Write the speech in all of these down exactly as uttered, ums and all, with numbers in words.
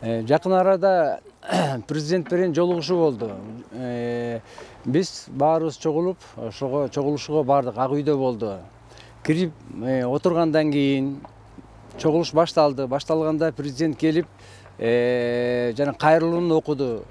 Жакын арада президент менен жолугушуу болду. Биз баарыбыз чогулуп, ошого чогулушууга бардык. Ак үйдө болду. Кирип отургандан кийин чогулуш башталды. Башталганда президент келип, жана кайрылууну окуду.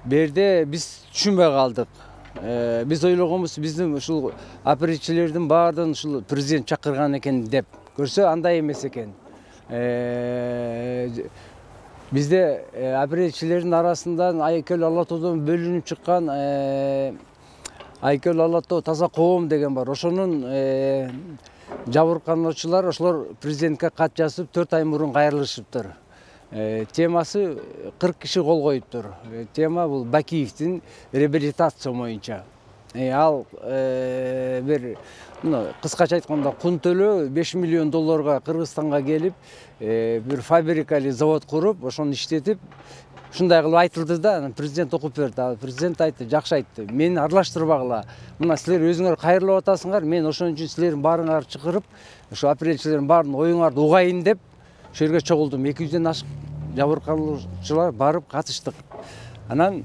Берде биз түшүнбөй калдык. Биз ойлогонбуз, биздин ушул оперативчилердин баардыгын ушул президент чакырган экен деп. Көрсө андай эмес экен. Бизде оперативчилердин арасынан Айкөл Ала тоодон бөлүнүп чыккан Айкөл Ала тоо таза коом деген бар. Ошонун жабыркануучулар ошолор президентке кат жазып, төрт ай мурун кайрылышыптыр. Темасы кырк киши кол коюптур. Тема бул Бакиевдин реабилитация боюнча. Ал бир кыскача айтканда кун төлөө беш миллион долларга Кыргызстанга келип, бир фабрика или завод куруп, ошону иштетип, ушундай кылып айтылды да, президент окуп берди. Президент айтты, жакшы айтты. Мени аралаштырбагыла. Мына силер өзүңөр кайрылып атасыңар, мен ошон үчүн силердин баарыңарды чакырып, ошо оперативчилердин баарын оюңарды угайын деп, ошол жерге чогулдум. эки жүздөн ашык жабыркануучулар барып катыштык. Анан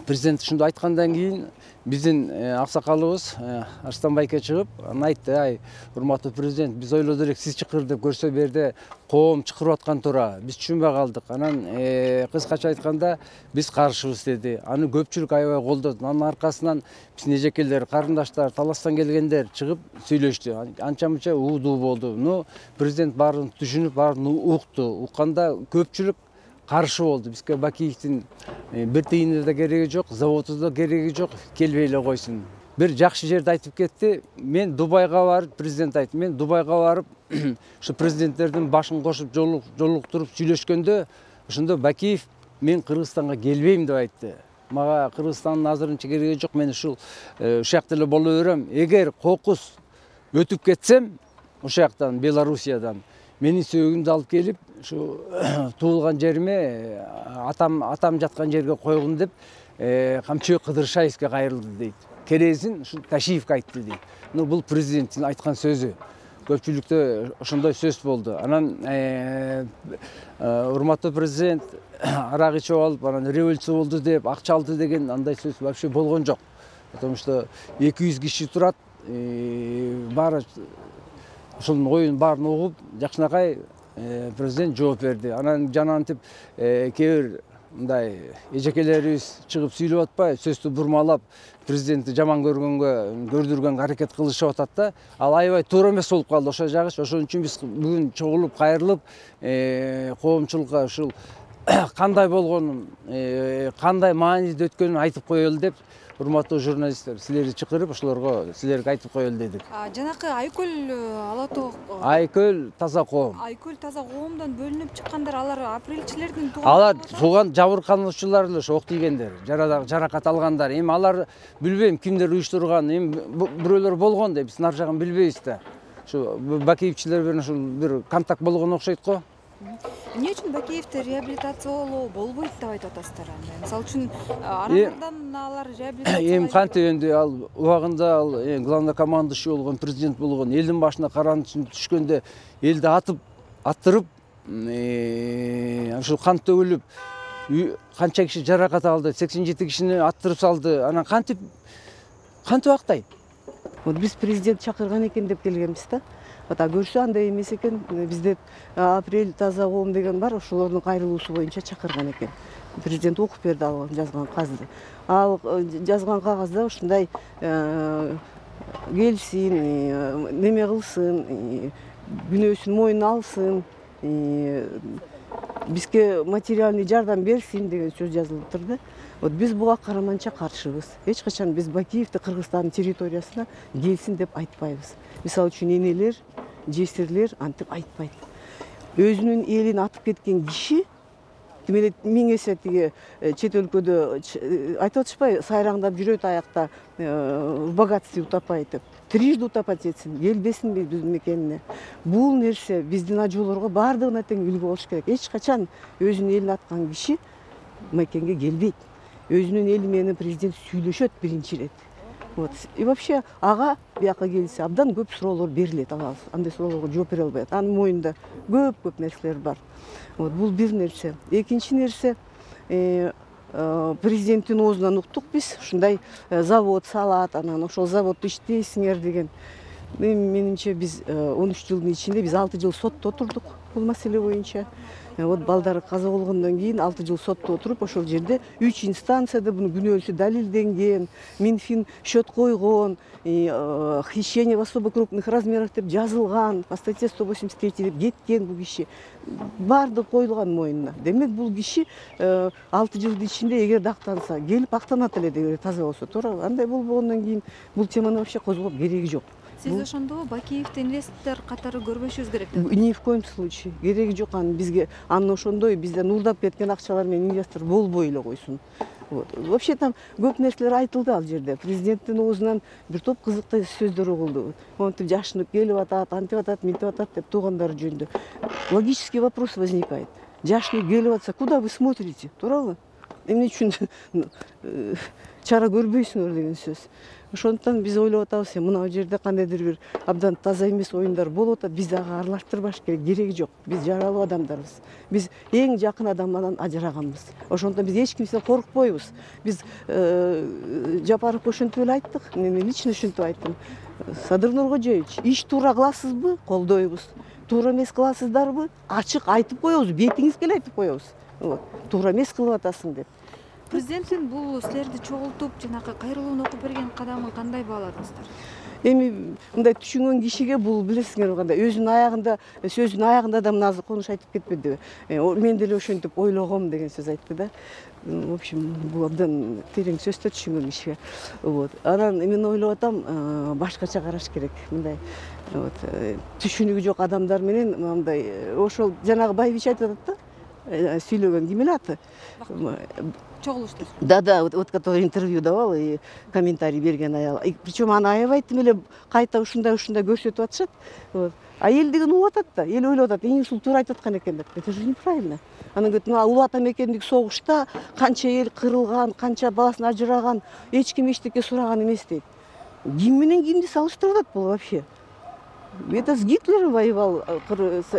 президент ушунду айткандан кийин биздин аксакалыбыз Арстан байке чыгып, анан айтты: "Ай, урматтуу президент, биз ойлоду элек сиз чакырдып, көрсө берде коом чакырып аткан тура. Биз түшүнбөй калдык. Анан кыскача айтканда биз каршыбыз" деди. Аны көпчүлүк аябай колдоду. Анын аркасынан биздин эжекелер, карындаштар, таластан келгендер чыгып сүйлөштү. Анча мынча уудуу болду. Ну, президент баарын түшүнүп, баарын укту. Укканда көпчүлүк каршы болду. Бизге Бакиевдин бир тыйыны да кереги жок, заводу да кереги жок, келбей эле койсун. Бир жакшы жерди айтып кетти. Мен Дубайга барып, президент айтты, мен Дубайга барып, ушу президенттердин башын кошуп жолуктуруп сүйлөшкөндө, ошондо Бакиев мен Кыргызстанга келбейм деп айтты. Мага Кыргызстандын азырынча кереги жок, мен ушул ушул жакта эле боло берем. Эгер кокус өтүп кетсем, ошол жактан, Белоруссиядан, менин сөөгүмдү алып келип, ушу туулган жериме, атам атам жаткан жерге койгун деп, Камчыбек Кыдыршаевге кайрылды дейт. Керезин ушу Ташиевге айтты дейт. Ну, бул президенттин айткан сөзү. Көпчүлүктө ошондой сөз болду. Анан урматтуу президент арак ичип алып, анан революция болду деп, акча алды деген андай сөз вообще болгон жок. Потому что эки жүз киши турат, баары ошонун оюн баарын угуп, жакшынакай президент жооп берди. Анан жанантип кээ бир мындай эжекелерибиз чыгып сүйлөп атпай, сөздү бурмалап, президентти жаман көргөнгө, көрдүргөнгө аракет кылышып атат да. Ал аябай туура эмес болуп калды ошол жагы. Ошон үчүн биз бүгүн чогулуп, кайрылып, коомчулукка ушул кандай болгонун, кандай мааниде өткөнүн айтып коелу деп, урматтуу журналисттер, силерди чакырып, ошолорго силерге айтып коелу дедик. Жанакы Айкөл Ала тоо Айкөл таза коом. Айкөл таза коомдон бөлүнүп чыккандар, алар апрелчилердин тууган. Алар тууган жабыркануучулар эле, ошо ок тийгендер, жаракат алгандар. Эми алар билбейм кимдер уюштурган, эми бирөөлөр болгон да, биз нар жагын билбейбиз да. Ушу Бакиевчилер менен ушул бир контакт болгон окшойт го. Эмне үчүн Бакиевди реабилитациялоо болбойт деп айтып атасыздар анда? Мисалы үчүн арадан алар реабилитация эми кантип энди ал убагында ал главнокомандующий болгон, президент болгон, элдин башына карандысың түшкөндө элди атып, аттырып, ушул кан төгүлүп, канча киши жаракат алды, сексен жети кишини аттырып салды. Анан кантип кантип актайт? Вот биз президент чакырган экен деп келгенбиз да. Ата көрсө андай эмес экен. Бизде апрель таза коом деген бар, ошолордун кайрылуусу боюнча чакырган экен. Президент окуп берди ал жазган кагазды. Ал жазган кагазда ушундай келсин, неме кылсын, күнөөсүн мойнуна алсын, бизге материальный жардам берсин деген сөз жазылыптыр да. Вот биз буга караманча каршыбыз. Эч качан биз Бакиевди Кыргызстандын территориясына келсин деп айтпайбыз. Мисалы үчүн энелер, жесирлер антип айтпайт. Өзүнүн элин атып кеткен киши кимде миң эсе тиги чет өлкөдө айтып атышпайбы, сайраңдап жүрөт аякта, в богатстве утопайт деп. Трижды утопать этсин, келбесин биздин мекенине. Бул нерсе биздин ажоолорго баардыгына тең үлгү болуш керек. Эч качан өзүнүн элин аткан киши мекенге келбейт. Өзүнүн эли менен президент сүйлөшөт биринчи ирет. Вот. И вообще ага бияка келсе абдан көп суроолор берилет, ага андай суроолорго жооп бере албайт. Анын моюнда көп көп нерселер бар. Вот, бул бир нерсе. Экинчи нерсе, президенттин оозунан уктук биз, ушундай завод салат, анан ошол заводдо иштейсиңер деген. Менимче биз он үч жылдын ичинде биз алты жыл сотто отурдук бул маселе боюнча. Вот балдары каза болгондон кийин алты жыл сотто отуруп, ошол жерде үч инстанцияда буну күнөөсү далилденген, Минфин счет койгон, хищение в особо крупных размерах деп жазылган, по статье сто восемьдесят три деп кеткен бул киши. Баардыгы коюлган моюнуна. Демек бул киши алты жылдын ичинде эгер актанса, келип актанат эле эгер таза болсо, туура. Андай болбогондон кийин бул теманы вообще козгоп кереги жок. Сиз ошондо Бакиевди инвестор катары көрбөшүбүз керек деп? Ни в коем случае. Кереги жок анын бизге. Анын ошондой бизден уурдап кеткен акчалар менен инвестор болбой эле койсун. Вот. Вообще там көп нерселер айтылды ал жерде. Президенттин оозунан бир топ кызыктуу сөздөр угулду. Монтип жашынып келип атат, антип атат, мынтип атат деп туугандары жөнүндө. Логический вопрос возникает. Жашынып келип атса, куда вы смотрите? Туурабы? Эмне үчүн чара көрбөйсүңөр деген сөз. Ошондуктан биз ойлоп атабыз, мына жерде кандайдыр бир абдан таза эмес оюндар болуп атат, биз ага аралаштырбаш керек, кереги жок. Биз жаралуу адамдарбыз. Биз эң жакын адамдан ажыраганбыз. Ошондуктан биз эч кимден коркпойбуз. Биз Жапаров ошентип эле айттык, мен лично ошентип айттым. Садыр Нуркожоевич, иш туура кыласызбы? Колдойбуз. Туура эмес кыласыздарбы? Ачык айтып коебуз, бетиңизге эле айтып коебуз. Туура эмес кылып атасың деп. Президенттин бул силерди чогултуп, жанагы кайрылууну окуп берген кадамын кандай бааладыңыздар? Эми мындай түшүнгөн кишиге бул билесиңер кандай, өзүнүн аягында, сөзүнүн аягында да мына азыр конуш айтып кетпедиби? Мен деле ошентип ойлогом деген сөз айтты да. В общем, бул абдан терең сөз да түшүнгөн кишиге. Вот. Анан мен ойлоп атам, башкача караш керек. Мындай вот түшүнүгү жок адамдар менен мындай ошол жанагы Байбич айтып атат да, сүйлөгөн ким эле аты? Чогулуштар. Да, да, вот, вот который интервью давал и комментарий берген аял. Причем аны аябайт эле кайта ушундай ушундай көрсөтүп атышат. Вот. А эл деген угуп атат да, эл ойлоп атат, эң ушул туура айтып аткан экен деп. Это же неправильно. Анан говорит, мына улуу ата мекендик согушта канча эл кырылган, канча баласын ажыраган, эч ким эчтеке сураган эмес дейт. Ким менен кимди салыштырып атат бул вообще? Это с Гитлером воевал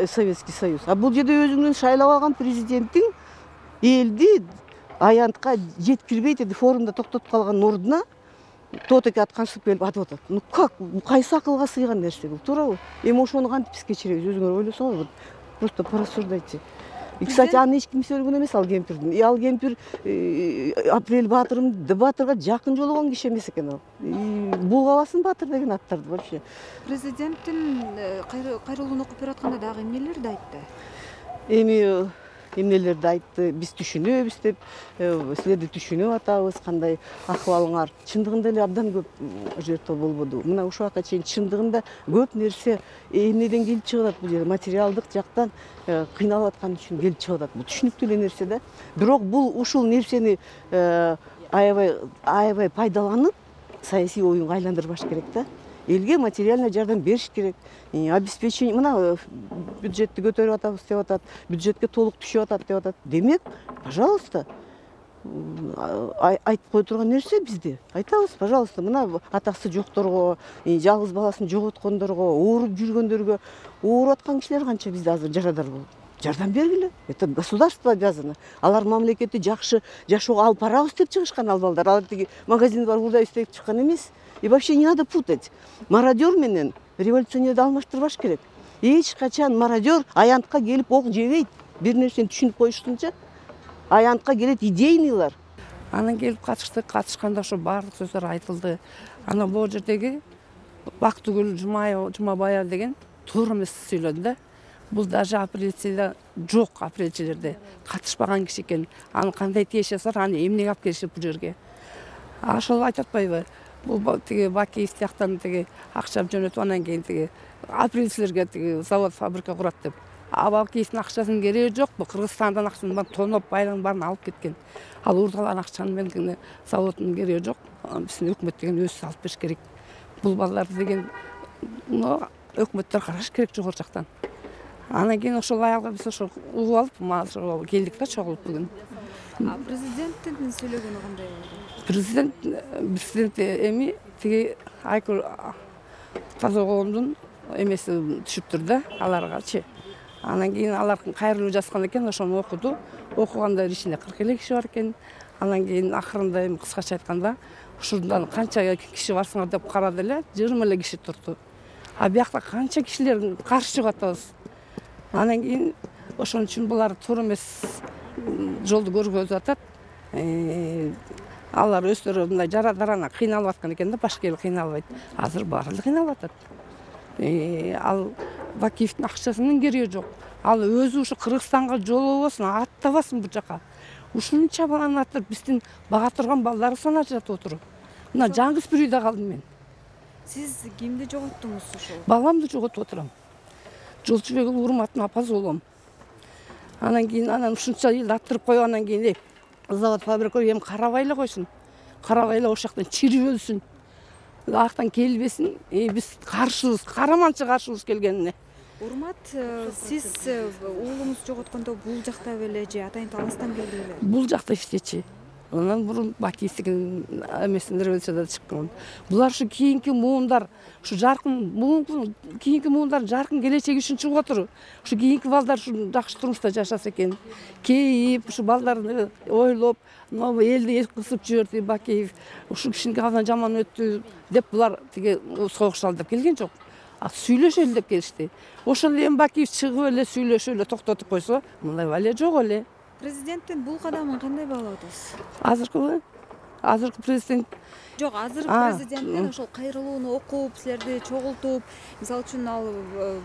Советский Союз. А бул жерде өзүңдүн шайлап алган президенттиң элди аянтка жеткирбейт эди, форумда токтотуп калган ордуна тотеке атканчылык келип атып атат. Ну как? Кайсы акылга сыйган нерсе бул, туурабы? Эми ошону кантип биз кечиребиз? Өзүңөр ойлосоңор, просто порассуждайте. И, кстати, аны эч ким сөйлөгөн эмес ал кемпирдин. И ал кемпир Апрель Баатырым Батырга жакын жолуган киши эмес экен ал. Булгабасын Баатыр деген аттарды вообще. Президенттин кайрылууну окуп бератканда дагы эмнелерди айтты? Эми эмнелерди айтты, биз түшүнөбүз деп, силерди түшүнүп атабыз, кандай акыбалыңар. Чындыгында эле абдан көп жертва болбоду. Мына ушул убакка чейин чындыгында көп нерсе эмнеден келип чыгып атат бул жерде, материалдык жактан кыйналып аткан үчүн келип чыгып атат. Бул түшүнүктүү эле нерсе да. Бирок бул ушул нерсени аябай аябай пайдаланып, саясий оюнга айландырбаш керек да. Элге материальный жардам бериш керек. Обеспечение, мына бюджетти көтөрүп атабыз деп атат, бюджетке толук түшүп атат деп атат. Демек, пожалуйста, айтып кое турган нерсе бизде. Айтабыз, пожалуйста, мына атасы жокторго, жалгыз баласын жоготкондорго, ооруп жүргөндөргө, ооруп аткан кишилер канча бизде азыр жарадар болуп. Жардам бергиле. Это государство обязано. Алар мамлекетти жакшы жашоого алып барабыз деп чыгышкан ал балдар. Алар тиги магазин бар урдайбыз деп чыккан эмес. И вообще не надо путать. Мародер менен революционерди алмаштырбаш керек. Эч качан мародер аянтка келип ок жебейт. Бир нерсени түшүнүп коюшсунча, аянтка келет идейныйлар. Анан келип катыштык, катышканда ошо баардык сөздөр айтылды. Анан бул жердеги Бактыгүл Жумабаева деген туура эмес сүйлөдү да. Бул даже апелляцияда жок, апелляциялерде катышпаган киши экен. Аны кандай тиешесиңер, аны эмнеге алып келишип бул жерге? Ошол айтып атпайбы? Бул тиги Бакиев тияктан тиги акча жөнөтүп анан кийин тиги апелляциялерге тиги завод, фабрика курат деп. А Бакиевдин акчасынын кереги жок, бул Кыргызстандан акчасын баарын тоноп, байлыгын баарын алып кеткен. Ал уурдалган акчанын менен заводдун кереги жок. Биздин өкмөт деген өзү алып бериш керек. Бул балдар деген өкмөттөр караш керек жогору жактан. Анан кийин ошол аялга биз ошо угуп алып келдик да чогулуп бүгүн. А президенттин сүйлөгөнү кандай болду? Президент президент эми тиги Айкүл Тазагоомдун эмеси түшүптүр да аларгачы. Анан кийин алар кайрылуу жазган экен, ошону окуду. Окуганда ичинде кырк эле киши бар экен. Анан кийин акырында эми кыскача айтканда ушундан канча киши барсыңар деп карады эле, жыйырма эле киши турду. А биякта канча кишилер каршы чыгып атабыз. Анан кийин ошон үчүн булар туура эмес жолду көргөзүп атат. Алар өздөрү мындай жара-дарана кыйналып аткан экен да, башка эл кыйналбайт. Азыр баары эле кыйналып атат. Ал Бакиевдин акчасынын кереги жок. Ал өзү ушу Кыргызстанга жолобосун, аттабасын бул жака. Ушунча баланы аттырып биздин бага турган балдары санап жатып отуруп. Мына жаңгыз бір үйдө калдым мен. Сиз кимди жоготтуңуз ошол? Баламды жоготуп отурам. Жолчубек Урматтын апасы болом. Анан кийин анан ушунча элди аттырып коюп, анан кийин завод фабрика эми карабай эле койсун. Карабай эле ошол жактан чирип өлсүн. Актан келбесин. Биз каршыбыз, караманчы каршыбыз келгенине. Урмат, сиз уулуңуз жоготкондо бул жакта беле же атайын таластан келди беле? Бул жакта иштечи. Анан мурун Бакиевдин эмесин революцияда чыккан. Булар ушу кийинки муундар, ушу жаркын муун, кийинки муундар жаркын келечеги үчүн чыгып отур. Ушу кийинки балдар ушу жакшы турмушта жашаса экен. Кейип, ушу балдарды ойлоп, могу элди кысып жиберди Бакиев. Ушу кишинин абдан жаман өттү деп булар тиги согуш деп келген жок. А сүйлөшөлү деп келишти. Ошол эми Бакиев чыгып эле сүйлөшүп эле токтотуп койсо, мындай валия жок эле. Президенттин бул кадамын кандай баалап атасыз? Азыркы азыркы президент жок, азыркы президенттин ошол кайрылууну окуп, силерди чогултуп, мисалы үчүн ал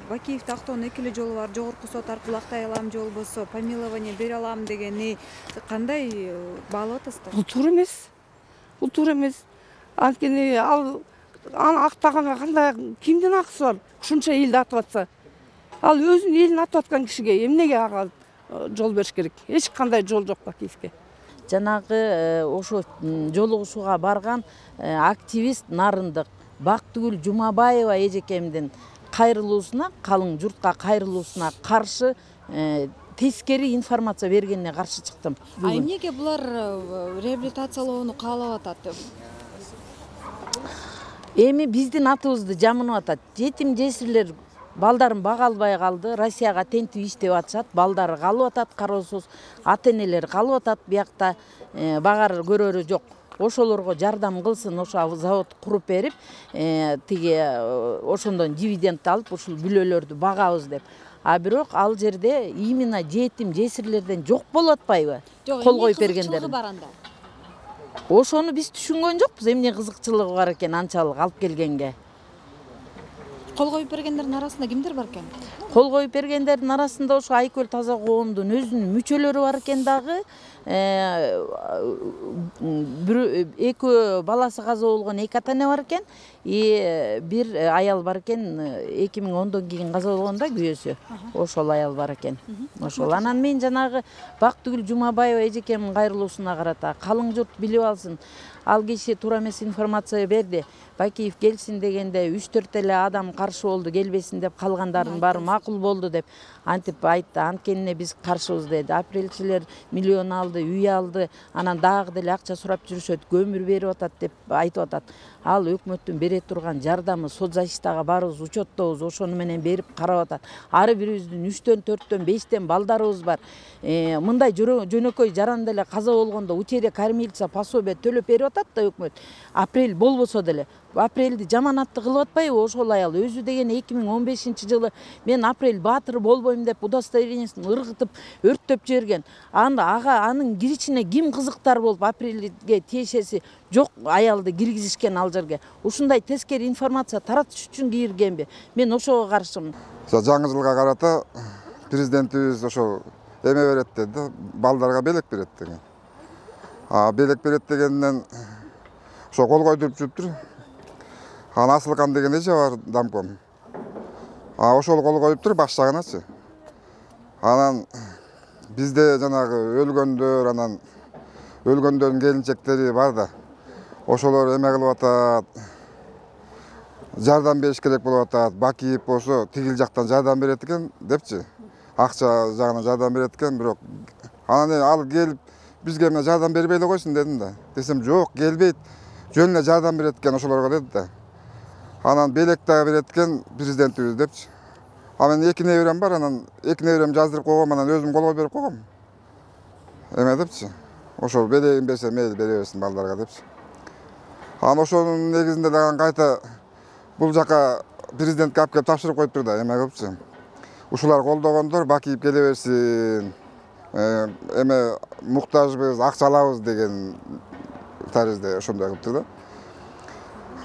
Бакиевди актоонун эки эле жолу бар, жогорку сот аркылуу актай алам же болбосо помилование бере алам дегени кандай баалап атасыздар? Бул туура эмес. Бул туура эмес. Анткени ал аны актаганга кандай кимдин акысы бар? Ушунча элди атып атса. Ал өзүнүн элин атып аткан кишиге эмнеге ага жол бериш керек? Эч кандай жол жок Бакиевге. Жанагы ошо жолугушууга барган активист Нарындык Бактыгүл Жумабаева эжекемдин кайрылуусуна, калың журтка кайрылуусуна каршы тескери информация бергенине каршы чыктым. А эмнеге булар реабилитациялоону каалап атат? Эми биздин атыбызды жамынып атат. Жетим жесирлер балдарын бага албай калды, Россияга тентип иштеп атышат, балдары калып атат кароосуз, ата-энелери калып атат, биякта багар көрөрү жок. Ошолорго жардам кылсын, ошо завод куруп берип, тиги ошондон дивиденд алып, ушул бүлөлөрдү багабыз деп. А бирок ал жерде именно жетим жесирлерден жок болуп атпайбы? Кол коюп бергендер. Ошону биз түшүнгөн жокпуз, эмне кызыкчылыгы бар экен анчалык алып келгенге. Кол коюп бергендердин арасында кимдер бар экен? Кол коюп бергендердин арасында ошо Айкөл Тазагоомдун өзүнүн мүчөлөрү бар экен дагы. Бир эки баласы каза болгон эки ата-эне бар экен. И бир аял бар экен, эки миң ондон кийин каза болгон да күйөөсү. Ошол аял бар экен. Ошол. Анан мен жанагы Бактыгүл Жумабаева эжекемдин кайрылуусуна карата калың журт билип алсын. Ал киши туура эмес информация берди. Бакиев келсин дегенде үч төрт эле адам каршы болду, келбесин деп, калгандардын баары макул болду деп антип айтты. Анткенине биз каршыбыз деди. Апрелчилер миллион алды, үй алды, анан дагы деле акча сурап жүрүшөт, көмүр берип атат деп айтып атат. Ал өкмөттүн бере турган жардамы соцзащитага барыбыз учеттобуз, ошону менен берип карап атат. Ары бирибиздин үчтөн, төрттөн, бештен балдарыбыз бар. Мындай жөнөкөй жаран деле каза болгондо учере кормилица пособие төлөп берип атат да өкмөт. Апрель болбосо деле. Апрелди жаманатты кылып атпайбы ошол аял? Өзү деген эки миң он бешинчи жылы мен Апрель баатыр болбойм деп удостоверениесин ыргытып, өрттөп жиберген. Анда ага анын киришине ким кызыктар болуп Апрелге тиешеси жок аялды киргизишкен ал жерге. Ушундай тескери информация таратыш үчүн киргенби? Мен ошого каршымын. Жаңы жылга карата президентибиз ошо эме берет деди, балдарга белек берет деген. А белек берет дегенден ошо кол койдуруп жүрүптүр. Ана Асылкан деген эже бар дамком. А ошол кол коюптур башчагыначы. Анан бизде жанагы өлгөндөр, анан өлгөндөрдүн келинчектери бар да. Ошолор эме кылып атат. Жардам бериш керек болуп атат. Бакиев болсо тигил жактан жардам берет экен депчи. акча жагынан жардам берет экен, бирок анан ал келип бизге мына жардам бербей эле койсун дедим да. Десем жок, келбейт, жөн эле жардам берет экен ошолорго деди да. Анан белек дагы берет экен президентибиз депчи. А мен эки неберем бар, анан эки неберем жаздырып койгом, анан өзүм колго берип койгом. Эме депчи. Ошол белегин берсе мейли бере берсин балдарга депчи. Анан ошонун негизинде дагы кайта бул жака президентке алып келип тапшырып коюптур да, эме кылыпчы. Ушулар колдогондор Бакиев келе берсин. Эме муктажбыз, акча алабыз деген таризде ошондой кылыптыр да.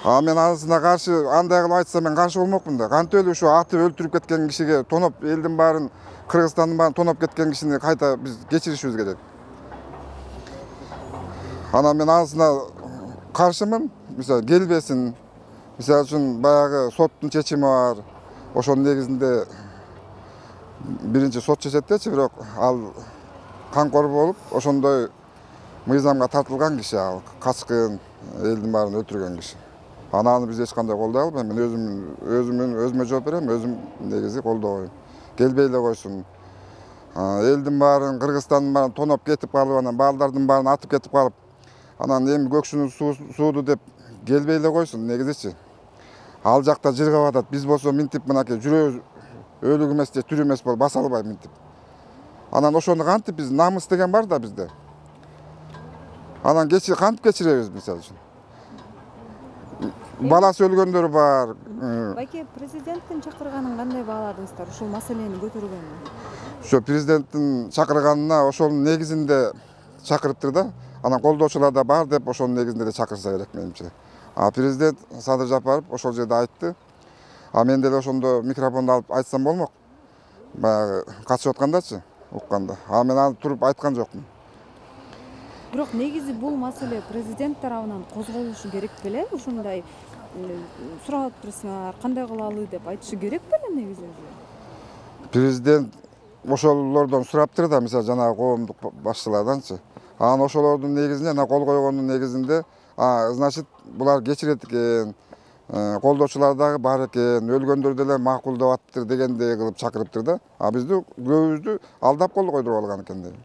А мен анысына каршы андай кылып айтса мен каршы болмокмун да. Кантип эле ушу атып өлтүрүп кеткен кишиге, тоноп элдин баарын, Кыргызстандын баарын тоноп кеткен кишини кайта биз кечиришибиз керек. Анан мен анысына каршымын. Мисалы келбесин. Мисалы үчүн баягы соттун чечими бар. Ошонун негизинде биринчи сот чечет дечи, бирок ал канкор болуп, ошондой мыйзамга тартылган киши ал, качкын, элдин баарын өлтүргөн киши. Анан биз эч кандай колдой албайм. Мен өзүм өзүмүн өзүмө жооп берем, өзүм негизи колдобойм. Келбей эле койсун. Элдин баарын, Кыргызстандын баарын тоноп кетип калып, анан балдардын баарын атып кетип калып, анан эми көкшүнүн сууду деп келбей эле койсун негизичи. Ал жакта жыргап атат. Биз болсо минтип мынакей жүрөбүз өлүк эмес же тирүү эмес болуп баса албайм минтип. Анан ошону кантип биз намыс деген бар да бизде. Анан кечир кантип кечиребиз мисалы үчүн. Баласы өлгөндөр бар. Баке, президенттин чакырганын кандай бааладыңыздар ушул маселени көтөргөнгө? Ошо президенттин чакырганына ошонун негизинде чакырыптыр да. Анан колдоочулар да бар деп ошонун негизинде эле чакырса керек менимче. А президент Садыр Жапаров ошол жерде айтты. А мен деле ошондо микрофонду алып айтсам болмок. Баягы катышып аткандачы, укканда. А мен аны туруп айткан жокмун. Бирок негизи бул маселе президент тарабынан козголушу керек беле? Ушундай сурап турсаңар, кандай кылалы деп айтышы керек беле негизи? Президент ошолордон сураптыр да, мисалы жанагы коомдук башчыларданчы. Анан ошолордун негизинде, ана кол койгондун негизинде, а значит, булар кечирет экен, колдоочулар дагы бар экен, өлгөндөр деле макул деп аттыр дегендей кылып чакырыптыр да. А бизди көбүбүздү алдап кол койдуруп алган экен дейм.